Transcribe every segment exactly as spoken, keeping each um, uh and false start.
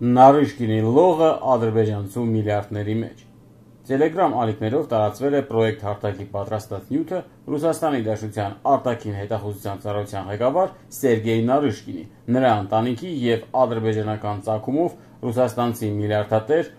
Նարիշկինի լողը ադրբեջանցու միլիարդների մեջ։ Տելեգրամ ալիքներով տարածվել է պրոյեկտ հարթակի պատրաստած նյութը Ռուսաստանի Դաշնության արտաքին հետախուզության ծառայության ղեկավար Սերգեյ Նարիշկինի, նրա ընտանիքի և ադրբեջանական ծագումով ռուսաստանցի միլիարդատեր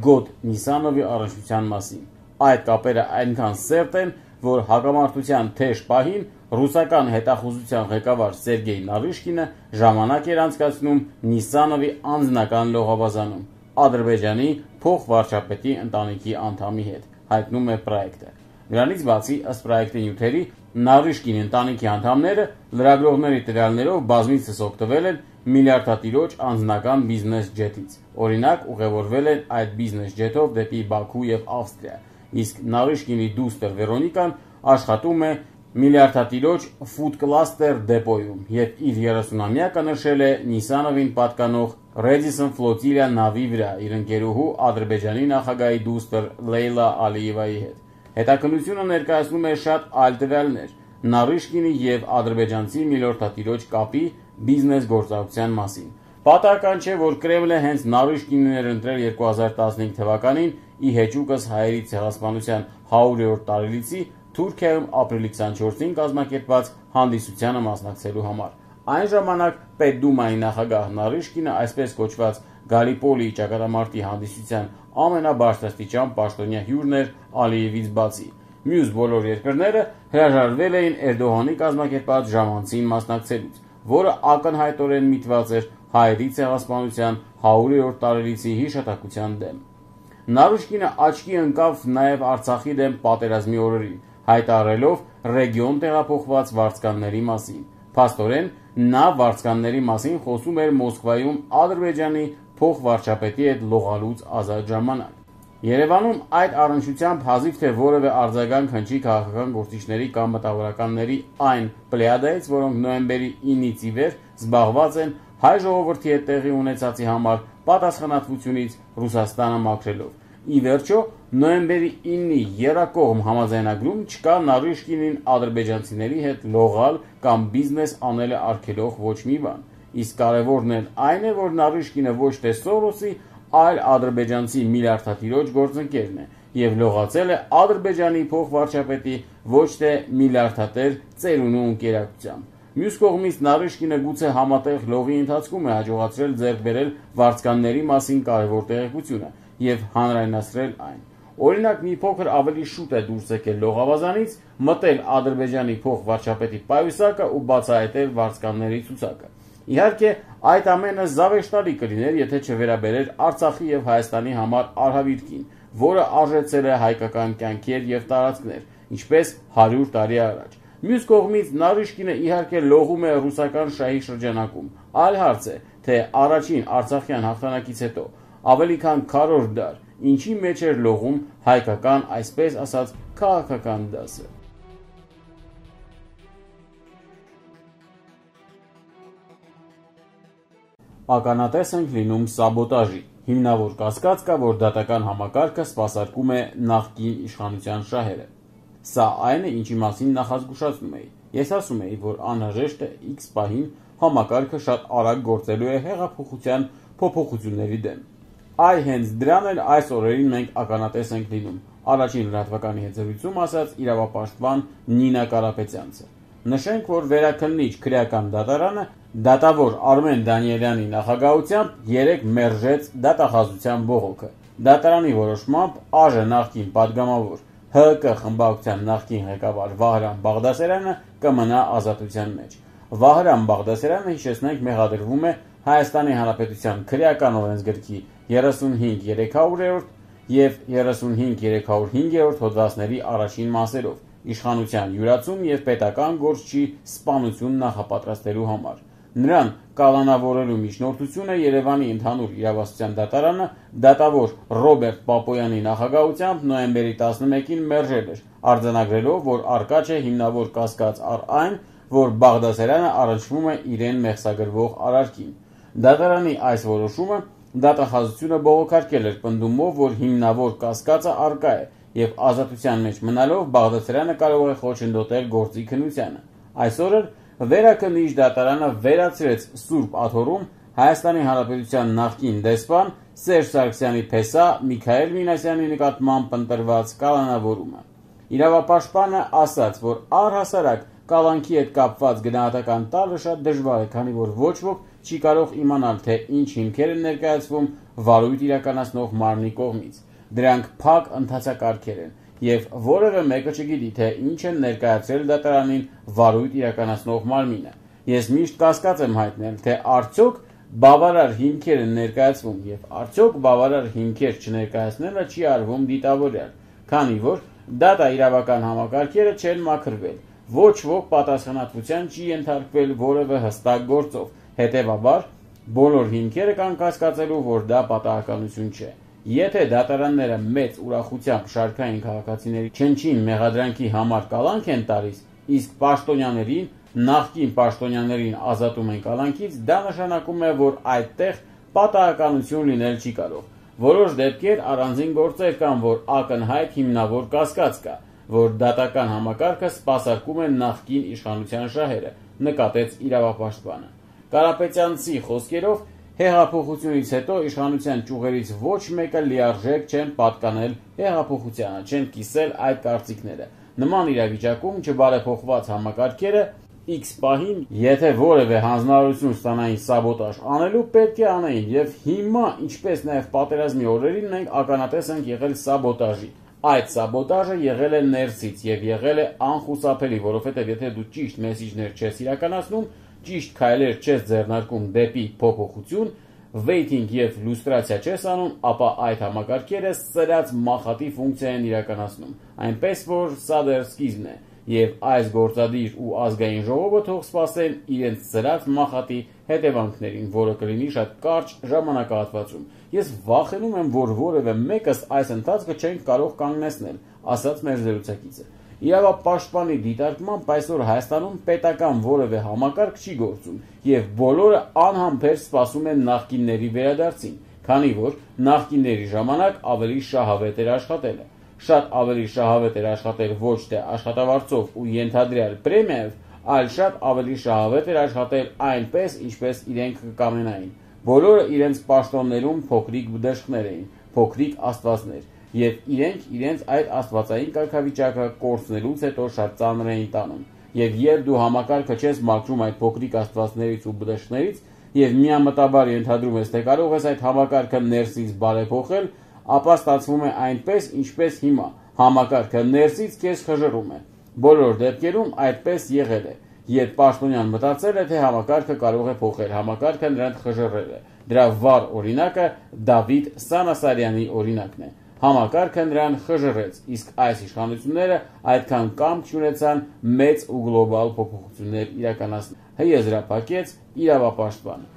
Գոտ Նիսանովի առնչության մասին։ Այդ կապերը այնքան սերտ են, որ հակամարտության թեժ պահին ռուսական հետախուզության ղեկավար Սերգեյ Նարիշկինը ժամանակ էր անցկացնում Նիսանովի անձնական լողավազանում Ադրբեջանի փոխվարչապետի ընտանիքի անդամի հետ, հայտնում է պրոյեկտը։ Նրանից բացի, ըստ պրոյեկտի նյութերի, Նարիշկինի ընտանիքի անդամները լրագրողների տվյալներով բազմիցս օգտվել են միլիարդատիրոջ անձնական բիզնես ջետից։ Օրինակ, ուղևորվել են այդ բիզնես ջետով դեպի Բաքու և Ավստրիա, իսկ Նարիշկինի դուստր Վերոնիկան աշխատում է միլիարդատիրոջ Food Cluster դեպոյում և իր երեսունամյակը նշել է Նիսանովին պատկանող Radisson Flotilla նավի վրա իր ընկերուհու Ադրբեջանի նախագահի դուստր Լեյլա Ալիևայի հետ։ Հետաքննությունը ներկայացնում է շատ այլ տվյալներ Նարիշկինի և ադրբեջանցի միլիարդատիրոջ կապի բիզնես գործունեության մասին։ Պատահական չէ, որ Կրեմլը հենց Նարիշկինին էր ընտրել երկու հազար տասնհինգ թվականին ի հեճուկս հայերի ցեղասպանության հարյուրերորդ տարելիցի Թուրքիայում ապրիլի քսանչորսին կազմակերպված հանդիսությանը մասնակցելու համար։ Այն ժամանակ Պետդումայի նախագահ Նարիշկինը այսպես կոչված Գալիպոլիի ճակատամարտի հանդիսության ամենաբարձրաստիճան պաշտոնյա հյուրն էր Ալիևից բացի։ Մյուս բոլոր երկրները հրաժարվել էին Էրդողանի կազմակերպած ժամանցին մասնակցելուց, որը ակնհայտորեն միտված էր հայերի ցեղասպանության հարյուրերորդ տարելիցի հիշատակության դեմ։ Նարիշկինը աչքի ընկավ նաև Արցախի դեմ պատերազմի օրերին, հայտարարելով ռեգիոն տեղափոխված վարձկանների մասին։ Փաստորեն, նա վարձկանների մասին խոսում էր Մոսկվայում Ադրբեջանի փոխվարչապետի հետ լողալուց ազատ ժամանակ։ Երևանում այդ առնչությամբ հազիվ թե որևէ արձագանք հնչի քաղաքական գործիչների կամ մտավորականների այն պլեյադայից, որոնք նոյեմբերի ինից ի վեր զբաղված են հայ ժողովրդի հետ տեղի ունեցածի համար պատասխանատվությունից Ռուսաստանը մաքրելով։ Ի վերջո, նոյեմբերի ինի եռակողմ համաձայնագրում չկա Նարիշկինին ադրբեջանցիների հետ լողալ կամ բիզնես անել արգելող ոչ մի բան։ Իսկ կարևորն էլ այն է, որ Նարիշկինը ոչ թե Սորոսի, այլ ադրբեջանցի միլիարդատիրոջ գործընկերն է և լողացել է Ադրբեջանի փոխվարչապետի ոչ թե միլիարդատեր ծերունու ընկերակցությամբ։ Մյուս կողմից Նարիշկինը գուցե համատեղ լողի ընթացքում է հաջողացրել ձեռք բերել վարձկանների մասին կարևոր տեղեկությունը և հանրայնացրել այն։ Օրինակ, մի փոքր ավելի շուտ է դուրս եկել լողավազանից, մտել Ադրբեջանի փոխվարչապետի պայուսակը ու բացահայտել վարձկանների ցուցակը։ Իհարկե, այդ ամենը զավեշտալի կլիներ, եթե չվերաբերեր Արցախի և Հայաստանի համար արհավիրքին, որը արժեցել է հայկական կյանքեր և տարածքներ, ինչպես հարյուր տարի առաջ։ Մյուս կողմից Նարիշկինը իհարկե լողում է ռուսական շահի շրջանակում։ Այլ հարց է, թե առաջին արցախյան հաղթանակից հետո ավելի քան քառորդ դար ինչի մեջ էր լողում հայկական, այսպես ասած, քաղաքական դասը։ Ականատես ենք լինում սաբոտաժի։ Հիմնավոր կասկած կա, որ դատական համակարգը սպասարկում է նախկին իշխանության շահերը։ Սա այն է, ինչի մասին նախազգուշացնում էի։ Ես ասում էի, որ անհրաժեշտ է X պահին համակարգը շատ արագ գործելու է հեղափոխության փոփոխությունների դեմ։ Այ հենց դրան էլ այս օրերին մենք ականատես ենք լինում, առաջին լրատվականի հետ զրույցում ասաց իրավապաշտպան Նինա Կարապետյանցը։ Նշենք, որ վերաքննիչ քրեական դատարանը դատավոր Արմեն Դանիելյանի նախագահությամբ երեկ մերժեց դատախազության բողոքը։ Դատարանի որոշմամբ ԱԺ նախկին падգամավոր ՀՀԿ խմբակցության նախկին ղեկավար Վահրամ Բաղդասարյանը կմնա ազատության մեջ։ Վահրամ Բաղդասարյանը, հիշեցնենք, մեղադրվում է Հայաստանի Հանրապետության քրեական օրենսգրքի երեսունհինգ երեք հարյուրերորդ և երեսունհինգ երեք հարյուր հինգերորդ հոդվածների առաջին մասերով իշխանության յուրացում և պետական գործչի սպանություն նախապատրաստելու համար։ Նրան կալանավորելու միջնորդությունը Երևանի ընդհանուր իրավասության դատարանը դատավոր Ռոբերտ Պապոյանի նախագահությամբ նոյեմբերի տասնմեկին մերժել էր, արձանագրելով, որ առկա չէ հիմնավոր կասկած առ այն, որ Բաղդասարյանը առնչվում է իրեն մեղսագրվող արարքին։ Դատարանի այս որոշումը դատախազությունը բողոքարկել էր պնդումով, որ հիմնավոր կասկածը առկա է և ազատության մեջ մնալով Բաղդասարյանը կարող է խոչընդոտել գործի քննությանը։ Այսօր էլ Վերաքննիչ դատարանը վերացրեց Սուրբ Աթոռում Հայաստանի Հանրապետության նախկին դեսպան Սերժ Սարգսյանի փեսա Միքայել Մինասյանի նկատմամբ ընտրված կալանավորումը։ Իրավապաշտպանը ասաց, որ առհասարակ կալանքի հետ կապված գնահատական տալը շատ դժվար է, քանի որ ոչ ոք չի կարող իմանալ, թե ինչ հիմքեր են ներկայացվում վարույթ իրականացնող մարմնի կողմից։ Դրանք փակ ընթացակարգեր են, եւ որևէ մեկը չգիտի, թե ինչ են ներկայացրել դատարանին վարույթ իրականացնող մարմինը։ Ես միշտ կասկած եմ հայտնել, թե արդյոք բավարար հիմքեր են ներկայացվում եւ արդյոք բավարար հիմքեր չներկայացնելը չի արվում դիտավորյալ, քանի որ դատաիրավական համակարգերը չեն մաքրվել, ոչ ոք պատասխանատվության չի ենթարկվել որևէ հստակ գործով, հետեւաբար բոլոր հիմքերը կան կասկածելու, որ դա պատահականություն չէ։ Եթե դատարանները մեծ ուրախությամբ շարքային քաղաքացիների չնչին մեղադրանքի համար կալանք են տալիս, իսկ պաշտոնյաներին, նախկին պաշտոնյաներին ազատում են կալանքից, դա նշանակում է, որ այդտեղ պատահականություն լինել չի կարող։ Որոշ դեպքեր առանձին գործեր կան, որ ակնհայտ հիմնավոր կասկած կա, որ դատական համակարգը սպասարկում է նախկին իշխանության շահերը, նկատեց իրավապաշտպանը։ Կարապետյանցի խոսքերով, հեղափոխությունից հետո իշխանության ճյուղերից ոչ մեկը լիարժեք չեն պատկանել հեղափոխությանը, չեն կիսել այդ կարծիքները։ Նման իրավիճակում չբարեփոխված համակարգերը X պահին, եթե որևէ հանձնարարություն ստանային սաբոտաժ անելու, պետք է անեին, եւ հիմա, ինչպես նաեւ պատերազմի օրերին, մենք ականատես ենք եղել սաբոտաժի։ Այդ սաբոտաժը եղել է ներսից եւ եղել է անխուսափելի, որովհետեւ եթե դու ճիշտ մեսիջներ չես իրականացնում, ճիշտ քայլեր չես ձեռնարկում դեպի փոփոխություն, վեյթինգ եւ լուստրացիա չես անում, ապա այդ համակարգերը սրած մախատի ֆունկցիա են իրականացնում, այնպես որ սա դեռ սկիզբն է, եւ այս գործադիր ու ազգային ժողովը թող սպասեն իրենց սրած մախատի հետևանքներին, որը կլինի շատ կարճ ժամանակահատվածում։ Ես վախենում եմ, որ որևէ մեկս այս ընթացքը չենք կարող կանգնեցնել, ասաց մեր զրուցակիցը։ Իրավապաշտպանի դիտարկմամբ այսօր Հայաստանում պետական որևէ համակարգ չի գործում եւ բոլորը անհամբեր սպասում են նախկինների վերադարձին, քանի որ նախկինների ժամանակ ավելի շահավետ էր աշխատելը։ Շատ ավելի շահավետ էր աշխատել ոչ թե աշխատավարձով ու ենթադրյալ պրեմիայով, այլ շատ ավելի շահավետ էր աշխատել այնպես, ինչպես իրենք կկամենային։ Բոլորը իրենց պաշտոններում փոքրիկ բդեշխներ էին, փոքրիկ աստվածներ, եւ իրենք իրենց այդ աստվածային կարգավիճակը կորցնելուց հետո շատ ծանր էին տանում։ Եվ երբ դու համակարգը չես մաքրում այդ փոքրիկ աստվածներից ու բդեշխներից եւ միամտաբար ենթադրում ես, թե կարող ես այդ համակարգը ներսից բարեփոխել, ապա ստացվում է այնպես, ինչպես հիմա։ Համակարգը ներսից քեզ խժռում է։ Բոլոր դեպքերում այդպես եղել է։ Երբ պաշտոնյան մտածել է, թե համակարգը կարող է փոխել, համակարգը նրան խժռել է։ Դրա վառ օրինակը Դավիթ Սանասարյանի օրինակն է։ Համակարգը նրան խժռեց, իսկ այս իշխանությունները այդքան կամք չունեցան մեծ ու գլոբալ փոփոխություններ իրականացնել։ Հեզրափակեց իրավապաշտպանը։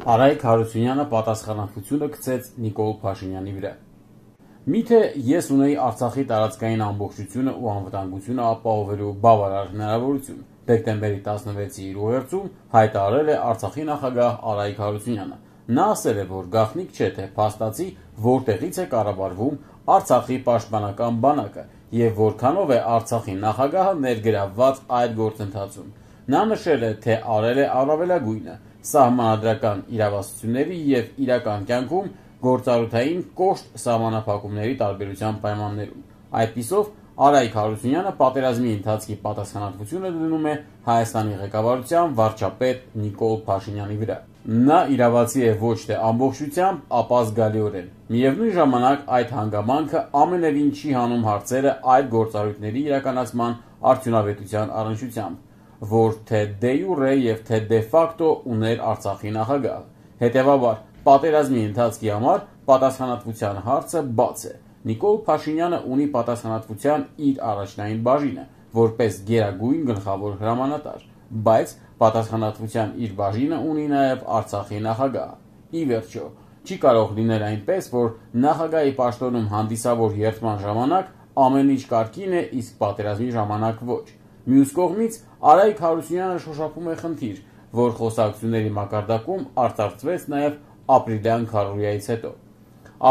Արայք Հարությունյանը պատասխանատվությունը գցեց Նիկոլ Փաշինյանի վրա։ Միթե ես ունեի Արցախի տարածքային ամբողջությունը ու անվտանգությունը ապահովելու բավարար հնարավորություն, դեկտեմբերի տասնվեցի իր ուղերձում հայտարարել է Արցախի նախագահ Արայք Հարությունյանը։ Նա ասել է, որ գաղտնիք չէ, թե փաստացի որտեղից է կառավարվում Արցախի պաշտպանական բանակը եւ որքանով է Արցախի նախագահը ներգրավված այդ գործընթացում։ Նա նշել է, թե արել է առավելագույնը սահմանադրական իրավասությունների եւ իրական կյանքում գործառութային կոշտ սահմանափակումների տարբերության պայմաններում։ Այդպիսով Արայք Հարությունյանը պատերազմի ընթացքի պատասխանատվությունը դնում է Հայաստանի ղեկավարության վարչապետ Նիկոլ Փաշինյանի վրա։ Նա իրավացի է ոչ թե ամբողջությամբ, ապա զգալիորեն։ Միևնույն ժամանակ այդ հանգամանքը ամենևին չի հանում հարցերը այդ գործառույթների իրականացման արդյունավետության առնչությամբ, որ թե դե յուրե եւ թե դե ֆակտո ուներ Արցախի նախագահը։ Հետևաբար, պատերազմի ընթացքի համար պատասխանատվության հարցը բաց է։ Նիկոլ Փաշինյանը ունի պատասխանատվության իր առաջնային բաժինը, որպես գերագույն գլխավոր հրամանատար, բայց պատասխանատվության իր բաժինը ունի նաև Արցախի նախագահը։ Ի վերջո, չի կարող լինել այնպես, որ նախագահի պաշտոնում հանդիսավոր երթման ժամանակ ամեն ինչ կարգին է, իսկ պատերազմի ժամանակ ոչ։ Մյուս կողմից Արայք Հարությունյանը շոշափում է խնդիր, որ խոսակցությունների մակարդակում արծարծվեց նաև ապրիլյան քարոզիայից հետո։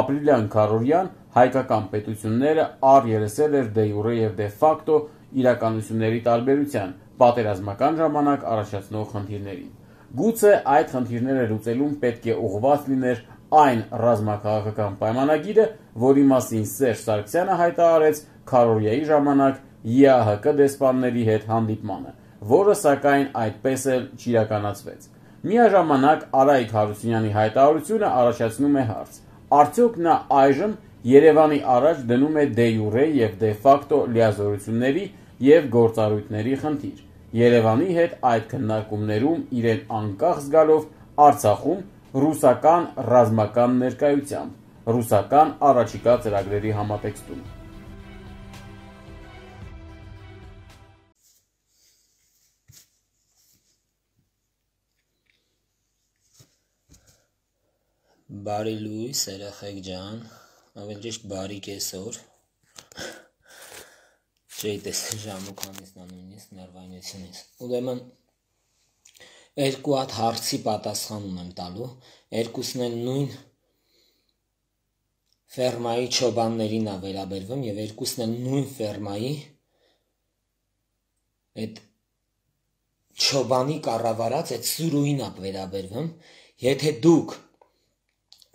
Ապրիլյան քարոզիան հայկական պետությունները առերեսել էր դե յուրե և դե ֆակտո իրականությունների տարբերության, պատերազմական ժամանակ առաջացնող խնդիրներին։ Գուցե այդ խնդիրները լուծելուն պետք է ուղղված լիներ այն ռազմաքաղաքական պայմանագիրը, որի մասին Սերժ Սարգսյանը հայտարարեց քարոզիայի ժամանակ ԵԱՀԿ դեսպանների հետ հանդիպմանը, որը սակայն այդպես էլ չիրականացվեց։ Միաժամանակ Արայիկ Հարությունյանի հայտարարությունը առաջացնում է հարց. արդյոք նա այժմ Երևանի առաջ դնում է դե յուրե և դե ֆակտո լիազորությունների և գործառույթների խնդիր, Երևանի հետ այդ քննարկումներում իրեն անկախ զգալով Արցախում ռուսական ռազմական ներկայությամբ, ռուսական առաջիկա ծրագրերի համատեքստում։ Բարի լույս, երեխեք ջան, ավելի ճիշտ բարի կեսօր, չէի տեսել ժամը քանիսն է նույնիսկ ներվայնությունից։ Ուրեմն երկու հատ հարցի պատասխան ունեմ տալու, երկուսն էլ նույն ֆերմայի չոբաններին է վերաբերվում և երկուսն էլ նույն ֆերմայի այդ չոբանի կառավարած այդ սուրուին է վերաբերվում, եթե դուք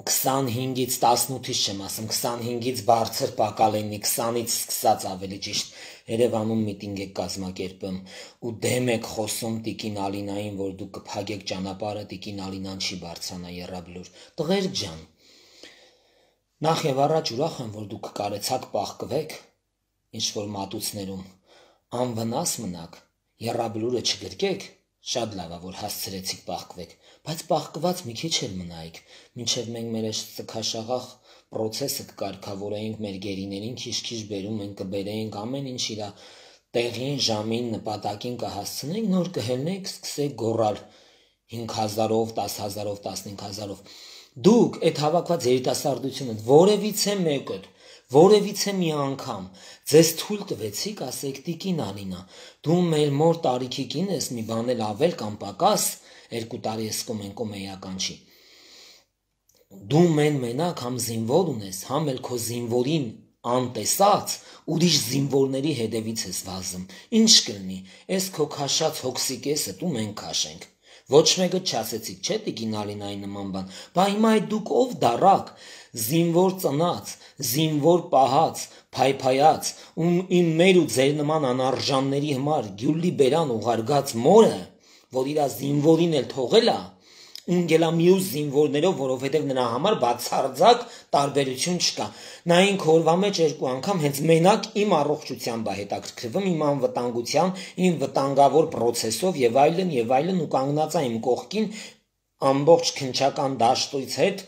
քսանհինգից տասնութից չեմ ասում, քսանհինգից բարձր պակալենի, քսանից սկսած ավելի ճիշտ Երևանում միտինգ եք կազմակերպում ու դեմ եք խոսում Տիկին Ալինային, որ դուք կփակեք ճանապարհը, Տիկին Ալինան չի բարձրանա եռաբլուր։ Տղեր ջան, նախ եւ առաջ ուրախ եմ, որ դուք կարեցաք պահկվեք ինչ-որ մատուցներում, անվնաս մնաք, եռաբլուրը չգրկեք, շատ լավ է, որ հասցրեցիք պահկվեք, բայց պահկված մի քիչ էլ մնայիք, մինչև մենք մեր ծքաշաղախ պրոցեսը կկարգավորեինք մեր գերիներին, քիչ-քիչ բերում ենք, կբերեինք ամեն ինչ իր տեղին, ժամին, նպատակին կհասցնենք, նոր կհելնենք, սկսեք գոռալ հինգ հազարով, տասը հազարով, տասնհինգ հազարով։ Դուք այդ հավաքված երիտասարդությունը որևիցե մեկը Որևիցե մի անգամ ձեզ թույլ տվեցիք, ասեք Տիկին Ալինա, դու մեր մոր տարիքի կին ես, մի բան էլ ավել կամ պակաս, երկու տարի ես կոմենկոմ էական չի։ Դու մեն մենակ համ զինվոր ունես, համ էլ քո զինվորին անտեսած, ուրիշ զինվորների հետևից ես վազում։ Ինչ կլինի, ես քո քաշած հոգսի կեսը դու մենք քաշենք։ Ոչ մեկը չասեցիք, չէ Տիկին Ալինայի նման բան, բա հիմա այդ դուք ով դարակ, զինվոր ծնած, զինվոր պահած, փայփայած, ու իմ մեր ու ձեր նման անարժանների համար գյուլի բերան ուղարկած մորը, որ իր զինվորին էլ թողել է, ունգելա մյուս զինվորներով, որովհետև նրա համար բացարձակ տարբերություն չկա։ Նա ինք օրվա մեջ երկու անգամ հենց մենակ իմ առողջությամբ է հետաքրքրվում, իմ անվտանգության, իմ վտանգավոր պրոցեսով եւ այլն եւ այլն ու կանգնած է իմ կողքին ամբողջ քնչական դաշտույց հետ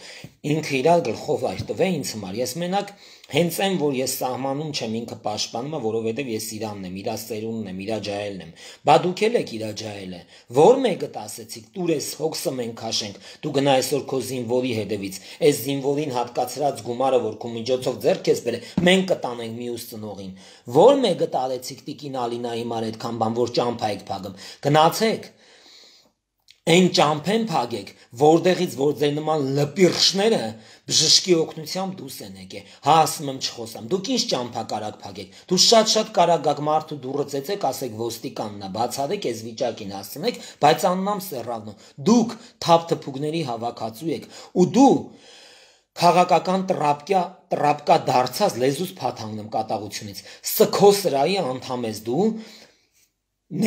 ինքը իր գլխով այր տվե ինձ համար։ Ես մենակ հենց այն, որ ես սահմանում չեմ ինքը պաշտպանում, որովհետև ես իրանն եմ, իր ծերունն եմ, իր ջահելն եմ։ Բա դուք էլ եք իր ջահելը։ Որ մեկը ասեցիք, տուր ես հոգսը մենք քաշենք, դու գնա այսօր քո զինվորի հետևից, այս զինվորին հատկացրած գումարը, որ քո միջոցով ձեռք ես բերել, մենք կտանենք մյուս ծնողին։ Որ մեկը տարեցիք Տիկին Ալինայի համար այդքան բան, որ ճամփա եք փակում։ Գնացեք Այն ճամփեն փագեք, որտեղից որ ձեր նման լպիրշները բժշկի օգնությամբ դուրս են եկել։ Հա ասում եմ չխոսամ։ Դուք ինչ ճամփա կարակ փագեք։ Դու շատ-շատ կարակ գաք մարդու դուրը ծեծեք, ասեք ոստիկանն է, բացառեք այս վիճակին հասցնեք, բայց աննամ սեռավնո։ Դուք թափ-թփուկների հավաքածու եք, ու դու քաղաքական տրապկա տրապկա դարձած լեզուս փաթանգնեմ կատաղությունից։ Սքո սրայի անդամ ես դու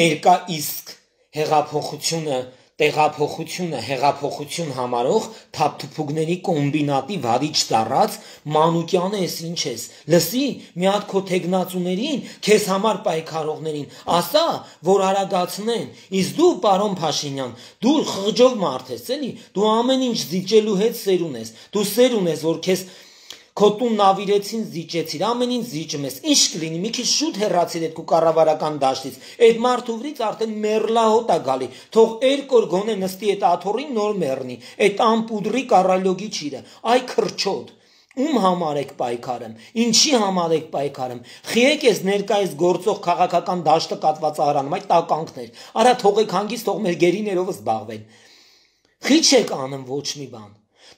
ներկա իսկ հեղափոխությունը Տեղափոխությունը, հեղափոխություն համարող թափթփուկների կոմբինատի վարիչ դառած Մանուկյանը ես ինչ ես։ Լսի, մի հատ քո թեկնածուներին, քեզ համար պայքարողներին, ասա, որ արագացնեն։ Իսկ դու, պարոն Փաշինյան, դու խղճով մարդ ես, էլի, դու ամեն ինչ զիջելու հետ սեր ունես։ Դու սեր ունես, որ քեզ Քո տուն նավիրեցին, զիջեցիր, ամեն ինչ զիջում ես, ինչ կլինի, մի քիչ շուտ հեռացիր այդ քո կառավարական դաշտից, այդ մարդու վրից արդեն մեռլահոտ է գալի, թող երկու օր գոնե նստի այդ աթոռին նոր մեռնի, այդ ամպուդրի կառալոգի ճիրը, այ քրչոտ, ում համար եք պայքարում, ինչի համար եք պայքարում, խիեք ես ներկայիս գործող քաղաքական դաշտը կատված ահրանում, այդ տականքներ, արա թողեք հանգիստ, թող մեր գերիներով զբաղվեն, խիչ եք անում ոչ մի բան։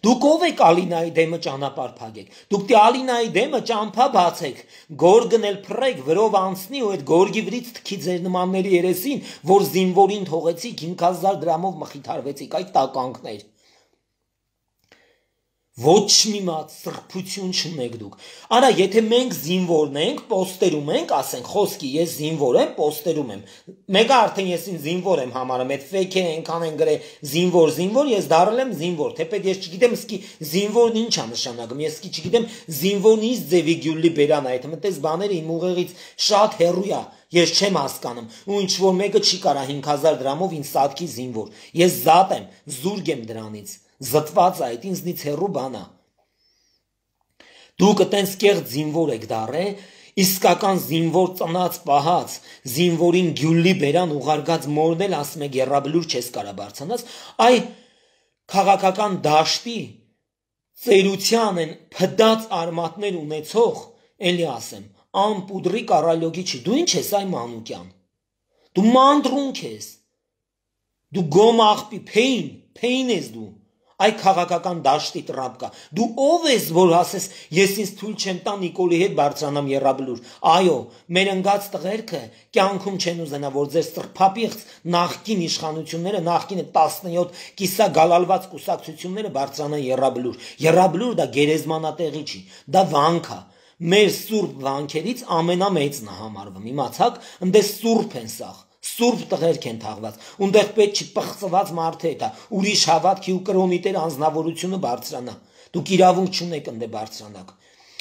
Դուք ով եք Ալինայի դեմը ճանապարհ փակեք։ Դուք դե Ալինայի դեմը ճամփա բացեք, գորգն էլ փռեք, վրով անցնի ու այդ գորգի վրից թքի ձեր նմանների երեսին, որ զինվորին թողեցիք հինգ հազար դրամով մխիթարվեցիք, այդ տականքներ։ Ոչ մի մատ սրբություն չունեք դուք։ Արա, եթե մենք զինվորն ենք, պոստերում ենք, ասենք, խոսքի ես զինվոր եմ, պոստերում եմ։ Մեկը արդեն ես ինձ զինվոր եմ համարում, այդ ֆեյքերը այնքան են գրել զինվոր, զինվոր, ես դառել եմ զինվոր։ Թեպետ ես չգիտեմ, իսկի զինվորն ինչ է նշանակում, ես իսկի չգիտեմ զինվորն ինչ ձևի գյուլի բերան, այդ մտես բաները իմ ուղեղից շատ հեռու է։ Ես չեմ հասկանում, ու ինչ որ մեկը չի կարա հինգ հազար դրամով ինձ սատկի զինվոր։ Ես զատ եմ, զուրկ եմ դրանից։ Զտված այդ ինձնից հեռու բան է։ Դուք այտենց կեղծ զինվոր եք դառել, իսկական զինվոր ծնած պահած, զինվորին գյուլի բերան ուղարկած մորնել, ասում եք եռաբլուր չես կարա բարձրանաս, այ քաղաքական դաշտի ծերության են փդած արմատներ ունեցող, էլի ասեմ, ամպուդրի կարալյոգի չի, դու ինչ ես այ Մանուկյան, դու մանտրունք ես, դու գոմ աղբի, փեին, փեին ես դու, այ քաղաքական դաշտի տրապկա, դու ով ես, որ ասես, ես ինձ թույլ չեմ տա Նիկոլի հետ բարձրանամ եռաբլուր, այո, մեր ընկած տղերքը կյանքում չեն ուզենա, որ ձեր սրբապիղծ նախկին իշխանությունները, նախկինը տասնյոթ կիսա գալալված կուսակցությունները բարձրանան եռաբլուր, եռաբլուր դա գերեզմանատեղի չի, դա վանք է, մեր սուրբ վանքերից ամենամեծն է համարվում, իմացաք, ընդես սուրբ են սաղ, սուրբ տղերք են թաղված, ունդեղ պետք չի պղծված մարդը հետա, ուրիշ հավատքի ու կրոնի տեր անձնավորությունը բարձրանա, դուք իրավունք չունեք ընդե բարձրանաք,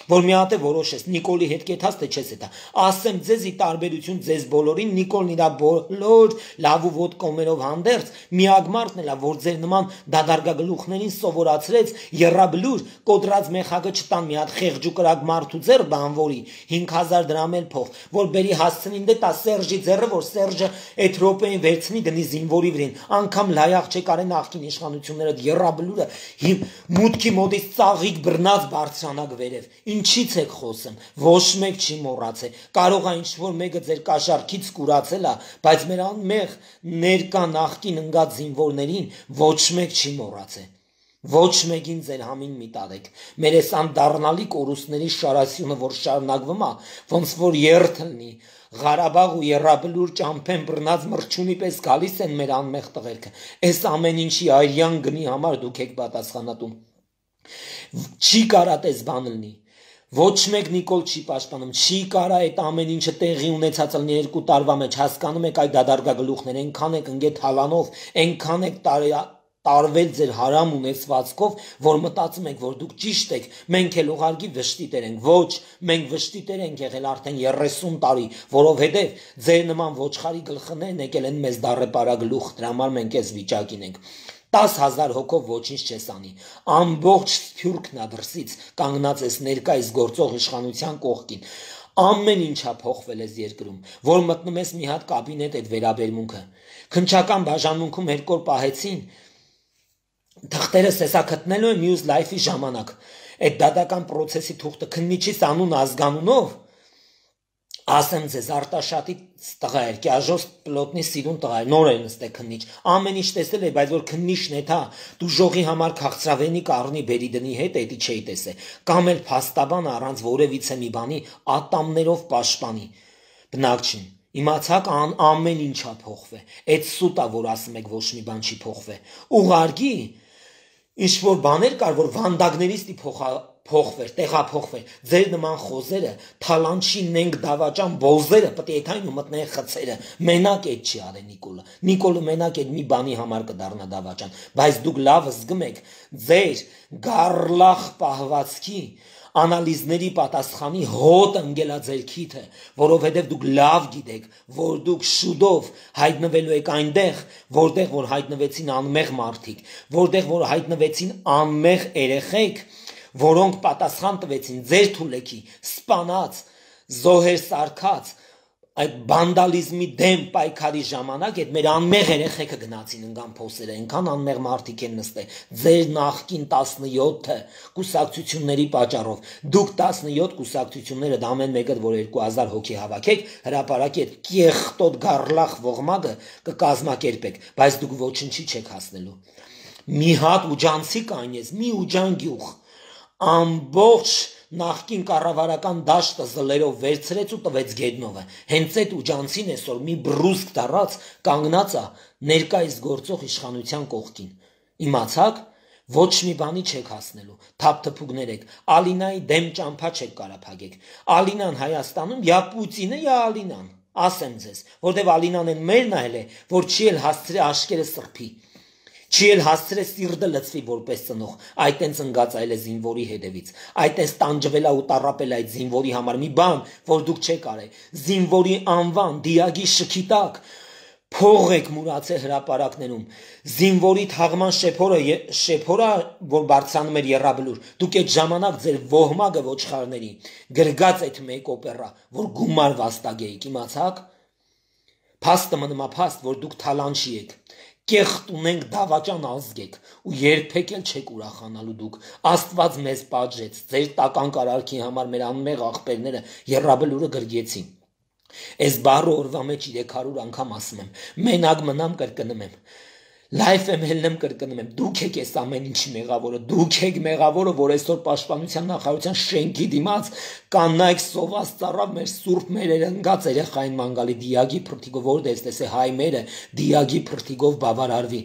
որ մի հատ է որոշես, Նիկոլի հետ կեթաս թե չես հետա, ասեմ ձեզի տարբերություն ձեզ բոլորին, Նիկոլն իրա բոլոր լավ ու ոտ կոմերով հանդերձ, միակ մարդն էլա, որ ձեր նման դադարգագլուխներին սովորացրեց, եռաբլուր, կոտրած մեխակը չտան մի հատ խեղճ ու կրակ մարդու ձեռ բանվորի, հինգ հազար դրամ էլ փող, որ բերի հասցնին դե տա Սերժի ձեռը, որ Սերժը այդ րոպեին վերցնի դնի զինվորի վրին, անգամ լայախ չեկարե նախկին իշխանությունները եռաբլուրը, մուտքի մոտից ծաղիկ բռնած բարձրանակ վերև, ինչից եք խոսում, ոչ մեկ չի մոռացել, կարող է ինչ-որ մեկը ձեր կաշառքից կուրացել է, բայց մեր անմեղ ներկա նախկին ընկած զինվորներին ոչ մեկ չի մոռացել, ոչ մեկին ձեր համին մի տարեք, մեր այս անդառնալի կորուստների շարասյունը, որ շարունակվում է, ոնց որ երթ լինի, Ղարաբաղ ու եռաբլուր ճամփեն բռնած մրջունի պես գալիս են մեր անմեղ տղերքը, այս ամեն ինչի այրյան գնի համար դուք եք պատասխանատու, չի կարա տես բան լինի, ոչ մեկ Նիկոլ չի պաշտպանում, չի կարա այդ ամեն ինչը տեղի ունեցած լինի երկու տարվա մեջ, հասկանում եք այդ դադարգագլուխներ, այնքան եք ընկել թալանով, այնքան եք տարվել ձեր հարամ ունեցվածքով, որ մտածում եք, որ դուք ճիշտ եք, մենք էլ ուղղակի վշտիտեր ենք, ոչ, մենք վշտիտեր ենք եղել արդեն երեսուն տարի, որովհետև ձեր նման ոչխարի գլխներն եկել են մեզ դառեպարագլուխ, դրա համար մենք այս վիճակին ենք։ տասը հազար հոգով ոչինչ չես անի, ամբողջ Սփյուռքն ա դրսից կանգնած ես ներկայիս գործող իշխանության կողքին, ամեն ինչա փոխվել ես երկրում, որ մտնում ես մի հատ կաբինետ այդ վերաբերմունքը, քննչական բաժանմունքում երկու օր պահեցին, թղթերը սեսա գտնելու են մյուս լայֆի ժամանակ, այդ դատական պրոցեսի թուղթը քննիչից անուն ազգանունով, ասեմ ձեզ Արտաշատի տղա էր, Կյաժոս պլոտնի սիրուն տղա էր, նոր էր նստել քննիչ, ամեն ինչ տեսել է, բայց որ քննիչն է թա, դու ժողի համար քաղցրավենի կառնի բերի դնի հետ, էդի չէի տեսել, կամ էլ փաստաբան առանց որևիցե մի բանի ատամներով պաշտպանի, բնակ չի, իմացաք ան ամեն ինչա փոխվե, այդ սուտ ա, որ ասում եք ոչ մի բան չի փոխվե, ուղարկի, ինչ որ բաներ կար, որ վանդակներից դի փոխա փոխվեր, տեղափոխվեր, ձեր նման խոզերը, թալանչին ենք դավաճան բոզերը, պետք է այդային ու մտնեն խցերը, մենակ այդ չի արել Նիկոլը, Նիկոլը մենակ այդ մի բանի համար կդառնա դավաճան, բայց դուք լավ զգում եք, ձեր գառլախ պահվածքի, անալիզների պատասխանի հոտ ընկելա ձեր քիթը, որովհետև դուք լավ գիտեք, որ դուք շուտով հայտնվելու եք այնտեղ, որտեղ որ հայտնվեցին անմեղ մարդիկ, որտեղ որ հայտնվեցին անմեղ երեխեք, որոնք պատասխան տվեցին ձեր թուլեքի, սպանած, զոհեր սարքած, այդ բանդալիզմի դեմ պայքարի ժամանակ այդ մեր անմեղ երեխեքը գնացին ընկան փոսերը, այնքան անմեղ մարդիկ են նստել, ձեր նախկին տասնյոթը կուսակցությունների պատճառով, դուք տասնյոթ կուսակցությունները դա ամեն մեկը, որ երկու հազար հոգի հավաքեք, հրապարակի այդ կեղտոտ գառլախ ողմակը կկազմակերպեք, բայց դուք ոչինչի չեք հասնելու։ մի հատ ուջանցի կանես, մի ուջան գյուղ, ամբողջ նախկին կառավարական դաշտը զլերով վերցրեց ու տվեց Գեդնովը։ Հենց այդ ուջանցին այսօր մի բռուսկ դառած կանգնած է ներկայիս գործող իշխանության կողքին։ Իմացաք, ոչ մի բանի չեք հասնելու, թափթփուկներ եք, Ալինայի դեմ ճամփա չեք կարա փագեք։ Ալինան Հայաստանում յա Պուտինը, յա Ալինան, ասեմ ձեզ, որտեվ Ալինան են մեր նայել է, որ չի էլ հասցրե աշկերը սրբի, չի էլ հասցրե սիրտը լցվի որպես ծնող, այդ տենց ընկած այլ է զինվորի հետևից, այդ տենց տանջվելա ու տառապել այդ զինվորի համար մի բան, որ դուք չեք արել, զինվորի անվան, դիագի շքի տակ, փող եք մուրացել հրապարակներում, զինվորի թաղման շեփորը, շեփորը, որ բարձրանում էր եռաբլուր, դուք այդ ժամանակ ձեր ոհմագը ոչխարների, գրգած այդ մեկ օպերա, որ գումար վաստակեիք, իմացաք, փաստը մնումա փաստ, որ դուք թալանչի եք, կեղտ ունենք դավաճան ազգ եք, ու երբեք էլ չեք ուրախանալու դուք, Աստված մեզ պատժեց, ձեր տական կարարքի համար մեր անմեղ աղբերները եռաբլուրը գրգեցին։ Այս բառը օրվա մեջ երեք հարյուր անգամ ասում եմ, մենակ մնամ կրկնում եմ, լայվ եմ հելնեմ կրկնում եմ, դուք եք այս ամեն ինչի մեղավորը, դուք եք մեղավորը, որ այսօր պաշտպանության նախարարության շենքի դիմաց կանայք սոված ծառավ մեր սուրբ մեր ընկած երեխային մանգալի դիագի փրթիկով, որտե է տեսե հայ մերը դիագի փրթիկով բավարարվի,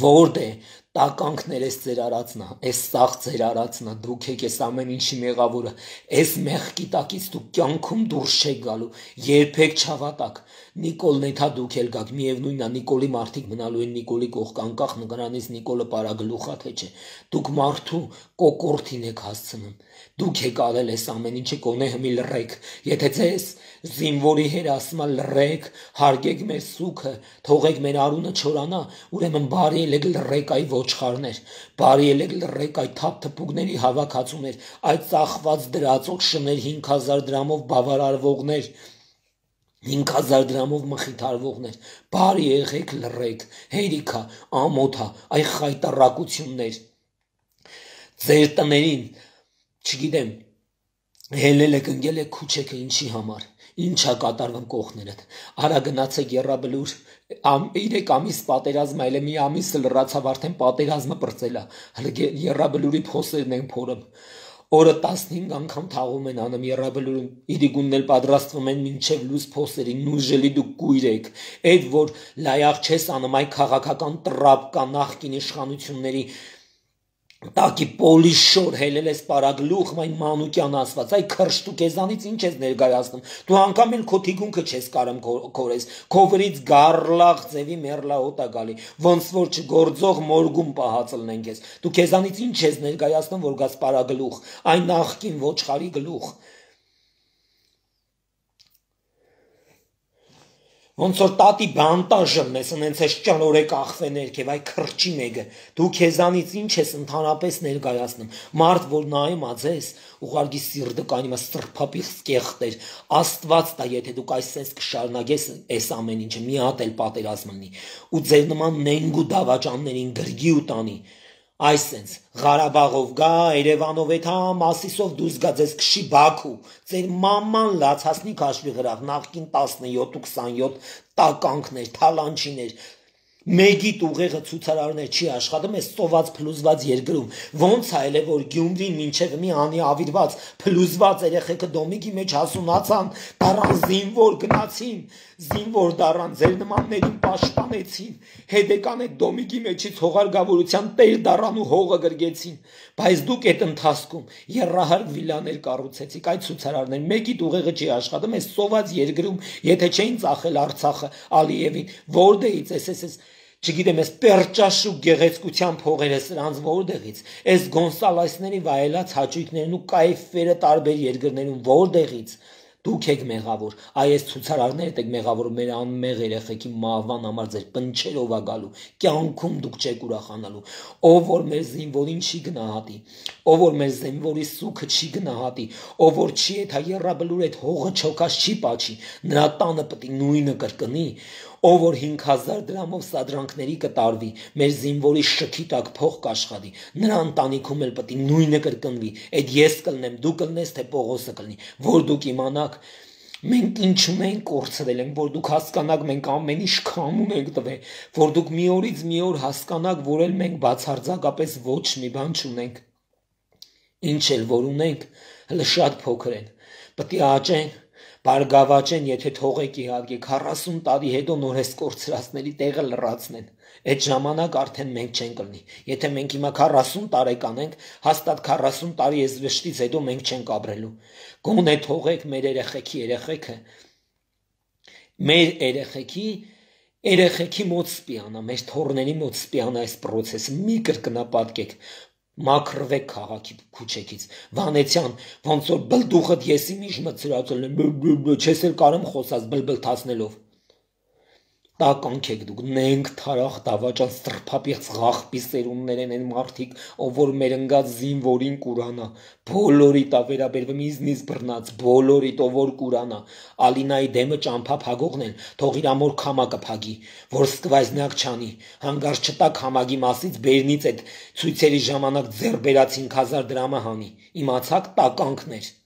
որտե տականքներ ես ձեր արածնա, այս սաղ ձեր արածնա, դուք եք այս ամեն ինչի մեղավորը, այս մեղքի տակից դուք կյանքում դուրս չեք գալու, երբեք չհավատաք, Նիկոլն էթա դուք էլ գաք, միևնույնն է Նիկոլի մարդիկ մնալու են Նիկոլի կողք անկախ նրանից Նիկոլը պարագլուխա թե չէ, դուք մարդու կոկորտին եք հասցնում, դուք եք արել այս ամեն ինչը կոնե հմի լռեք, եթե ձեզ զինվորի հերասմա լռեք, հարգեք մեր սուքը, թողեք մեր արունը չորանա, ուրեմն բարի ելեք լռեք այ ոչխարներ, բարի ելեք լռեք այդ թափթփուկների հավաքածուներ, այդ ծախված դրածոք շներ հինգ հազար դրամով բավարարվողներ, հինգ հազար դրամով մխիթարվողներ, բարի եղեք լռեք, հերիքա, ամոթա, այ խայտառակություններ, ձեր տներին, չգիտեմ, հելել եք, ընկել եք քուչեքը ինչի համար, ինչա կատարվում կողքներդ, արա գնացեք եռաբլուր, երեք ամիս պատերազմ այլ է մի ամիսը լռացավ արդեն պատերազմը պրծելա, եռաբլուրի փոսերն են փորում, օրը տասնհինգ անգամ թաղում են անում եռաբլուրում, իրիգունն էլ պատրաստվում են մինչև լույս փոսերին, նույժելի դուք կույր եք, այդ որ լայաղ չես անում, այ քաղաքական տրապ կա նախկին իշխանությունների տակի պոլիշոր հելել ես պարագլուխ, մայ մանուկյան ասված, այ քրշ դու քեզանից ինչ ես ներկայացնում, դու անգամ էլ քո թիկունքը չես կարում քորես, քո վրից գարլաղ ձևի մերլահոտ է գալի, ոնց որ չգործող մորգում պահածլնեն քեզ, դու քեզանից ինչ ես ներկայացնում, որ գաս պարագլուխ, այ նախկին ոչխարի գլուխ, ոնց որ տատի բանտաժն ես, ընենց ես ճնորեք ախվեներ քեվ, այ քրճի մեկը, դու քեզանից ինչ ես ընդհանրապես ներկայացնում, մարդ որ նայում ա ձեզ, ուղարկի սիրտը կանի մա սրբապիղ սկեղտեր, Աստված տա, եթե դուք այսպես կշարունակես այս ամեն ինչը, մի հատ էլ պատերազմ լինի, ու ձեր նման նենգ ու դավաճաններին գրգի ու տանի, այսենց Ղարաբաղով գա, Երևանով էթա Մասիսով դուրս գա ձեզ քշի Բաքու, ձեր մաման լացածնի քաշվի գրավ, նախկին տասնյոթ ու քսանյոթ տականքներ, թալանչիներ, մեգիտ ուղեղը ցուցարարներ չի աշխատում, այս ծոված փլուզված երկրում, ոնց է էլ է որ Գյումրին մինչև մի անի ավիրված, փլուզված երեխեքը դոմիկի մեջ հասունացան, դառան զինվոր գնացին, զինվոր դառան, ձեր նմաններին պաշտպանեցին, հետեկան այդ դոմիկի մեջից հողարգավորության տեր դառան ու հողը գրգեցին, բայց դուք այդ ընթացքում եռահարկ վիլաներ կառուցեցիք, այդ ցուցարարներ, մեգիտ ուղեղը չի աշխատում, այս ծոված երկրում, եթե չէին ծախել Արցախը Ալիևին, որտեղից էս էս չգիտեմ, ես պերճաշու գեղեցկության փողերը սրանց որտեղից, այս Գոնսալեսների վայելած հաճույքներն ու կայֆերը տարբեր երկրներում որտեղից, դուք եք մեղավոր, այ այս ցուցարարներդ եք մեղավոր, մեր անմեղ երեխեքի մահվան համար ձեր պնչերով ա գալու, կյանքում դուք չեք ուրախանալու, ով որ մեր զինվորին չի գնահատի, ով որ մեր զինվորի սուքը չի գնահատի, ով որ չի էթա եռաբլուր այդ հողը չոքած չի պաչի, նրա տանը պիտի նույնը կրկնի, ով որ հինգ հազար դրամով սադրանքների կտարվի, մեր զինվորի շքի տակ փող կաշխատի, նրա ընտանիքում էլ պիտի նույնը կրկնվի, այդ ես կլնեմ, դու կլնես, թե Պողոսը կլնի, որ դուք իմանաք, Մենք ինչ ունենք կորցրել ենք, որ դուք հասկանաք, մենք ամեն ինչ քամուն ենք տվել, որ դուք մի օրից մի օր հասկանաք, որ էլ մենք բացարձակապես ոչ մի բան չունենք։ Ինչ էլ որ ունենք, հələ շատ փոքր են։ Պետք է աճեն, բարգավաճեն, եթե թողեք իհարկե քառասուն տարի հետո նոր էս կորցրածների տեղը լրացնեն։ Այդ ժամանակ արդեն մենք չենք կլինի։ Եթե մենք հիմա քառասուն տարեկան ենք, հաստատ քառասուն տարի այս վշտից հետո մենք չենք ապրելու։ Գոնե թողեք մեր երեխեքի երեխեքը, մեր երեխեքի երեխեքի մոտ սպիանա, մեր թորների մոտ սպիանա այս process-ը, մի կրկնապատկեք, մաքրվեք քաղաքի քուչեքից։ Վանեցյան, ոնց որ բլդուխդ եսի միշտ մցրացել եմ, չես էլ կարեմ խոսած բլբլթացնելով։ Տականք եք դուք, նենք թարախ դավաճան սրբապիղծ ղախպի սերուններ են մարդիկ, ով որ մեր ընկած զինվորին կուրանա, բոլորիդ ա վերաբերվում իզնից բռնած, բոլորիդ ով որ կուրանա, Ալինայի դեմը ճամփա փագողն են, թող իր ամոր քամակը փագի, որ սկվայզնակ չանի, հանգարց չտա քամագի մասից բերնից այդ ցույցերի ժամանակ ձեռ բերած հինգ հազար դրամը հանի, իմացաք տականքներ։